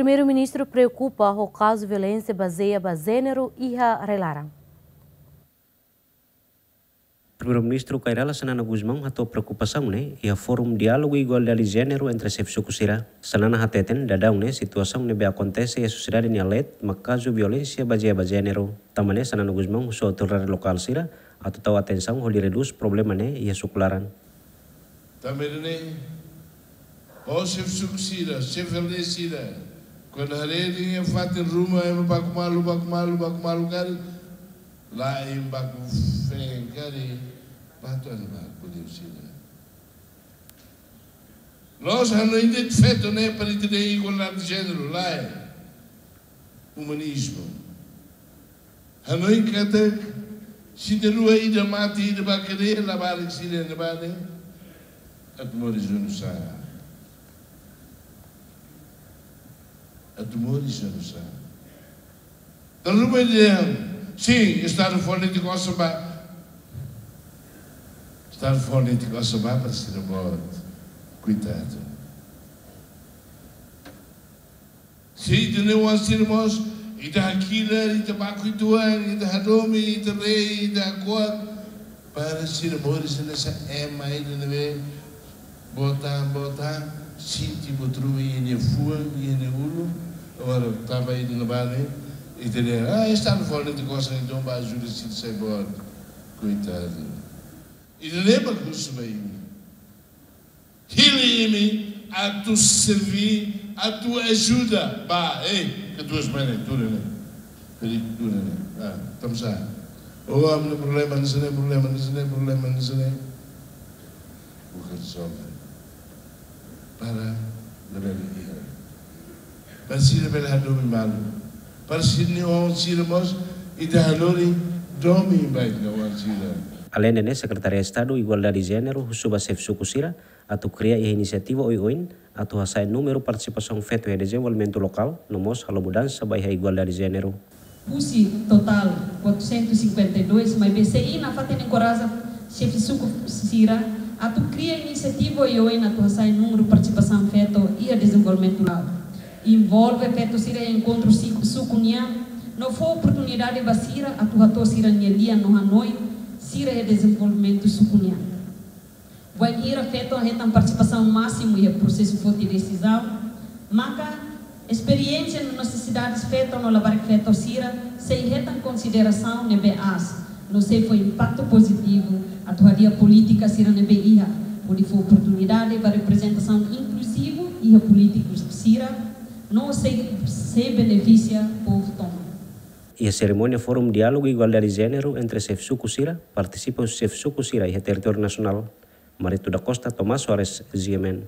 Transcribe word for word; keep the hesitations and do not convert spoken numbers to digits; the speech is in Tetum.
Primeiru-Ministru preokupa ho kazu violénsia bazeia ba jéneru iha rai-laran. Primeiru-Ministru Kay Rala Xanana Gusmão hato'o preokupasaun ne'e iha Fórum Diálogu Igualdade Jéneru entre xefe suku sira. Xanana hateten daudaun ne'e situasaun ne'ebé akontese iha sosiedade nia leet mak kazu violénsia bazeia ba jéneru. Tanba ne'e Xanana Gusmão husu autoridade lokál sira atu tau atensaun hodi redús problema ne'e iha suku laran. Tanba ne'e, ó xefe suku sira, xefe aldeia sira, kuandu haree dehan iha fatin ruma ema baku malu, baku malu, baku malu karik, la'en baku feen karik, bá to'o ema baku liu sira. Loos, hanoin de'it feto ne'e para ita dehan igualdade de jéneru, lae. Umanizmu. Hanoin katak, se ita rua ida mate, ida bá kadeia, labarik sira ne'ebá ne'e, atu moris oinsá? Atu moris oinsá? Dala ruma dehan, sin, Estadu fó netik osan ba. Estadu fó netik osan ba para sira boot. Koitadu. Se ita-nia oan sira mós, ita hakilar, ita baku uitoan, ita hadomi, ita rei, ita hako'ak, para sira moris hanesan ema ida ne'ebé boot an, boot an, sente buat ruma iha nia fuan, iha nia ulun. Agora, tanba ida ne'ebá ne'e, ita dehan, ah, Estadu fó netik osan, entaun bá ajuda sira sai boot. Koitadu. Ida-ne'e mak husu ba imi. Hili imi atu serví, atu ajuda. Bá, ei, katuas-mane, tuur ne'e. Peri, tuur ne'e. Ah, tansá? Oh, ami-nia problema hanesan ne'e, problema hanesan ne'e, problema hanesan ne'e. Buka rezolve. Para labele iha. Para sira bele hadomi malu. Para sira-nia oan sira mós, ita hanorin domin ba ita-nia oan sira. Aleinde ne'e, Sekretariadu Estadu Igualdade Jéneru husu ba xefe suku sira atu kria iha inisiativa oioin atu hasa'e númeru partisipasaun feto iha dezenvolvimentu lokál, no mós halo mudansa ba iha igualdade jéneru. Husi totál quatrocentos e cinquenta e dois, maibé sei iha nafatin enkoraja xefe suku sira atu kria inisiativa oioin atu hasa'e númeru partisipasaun feto iha dezenvolvimentu lokál. Envolve feto sira iha enkontru si-, suku nian, no fó oportunidade ba sira atu hato'o sira-nia lian no hanoin sira iha dezenvolvimentu suku nian. Wainhira feto hetan partisipasaun másimu iha prosesu foti desizaun, maka esperiénsia no nesesidades feto no labarik feto sira sei hetan konsiderasaun ne'ebé aas, no sei fó impaktu pozitivu atu hadi'a polítika sira ne'ebé iha, hodi fó oportunidade ba reprezentasaun inkluzivu iha polítiku sira, no sei, sei benefisia povu tomak. Iha serimónia Fórum Diálogu Igualdade Jéneru entre xefe suku sira, partisipa husi xefe suku sira iha territóriu nasionál. Marito da Costa, Tomás Soares, G M N.